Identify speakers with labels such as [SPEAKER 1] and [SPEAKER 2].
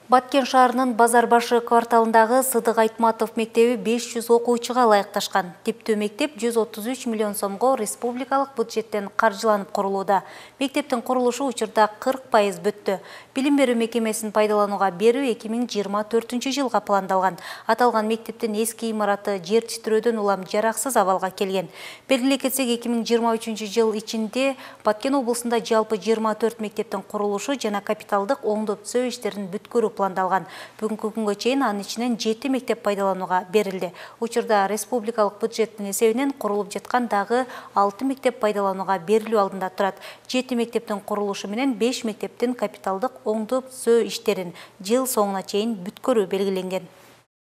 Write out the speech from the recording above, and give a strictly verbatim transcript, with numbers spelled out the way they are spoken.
[SPEAKER 1] Баткен шаарынын Базар башы кварталындагы Сыдык Айтматов мектеби беш жүз окуучуга ылайыкташкан. Типтүү мектеп жүз отуз үч миллион сомго республикалык бюджеттен каржыланып курулууда. Мектептин курулушу учурда кырк пайыз бүттү. Билим берүү мекемесин пайдаланууга берүү эки миң жыйырма төртүнчү жылга пландалган. Аталган мектептин эски имараты жер титирөөдөн улам жараксыз абалга келген. Белгилей кетсек, эки миң жыйырма үчүнчү жыл ичинде Баткен облусунда жалпы жыйырма төрт мектептин курулушу жана капиталдык оңдоо түзөө иштерин бүткөрүү пландалган. Бүгүнкү күнгө чейин анын ичинен жети мектеп пайдаланууга берилди. Учурда республикалык бюджеттин эсебинен курулуп жаткан дагы алты мектеп пайдаланууга берилүү алдында турат. жети мектептин курулушу менен беш мектептин капиталдык оңдоо түзөө иштерин жыл соңуна чейин бүткөрүү белгиленген.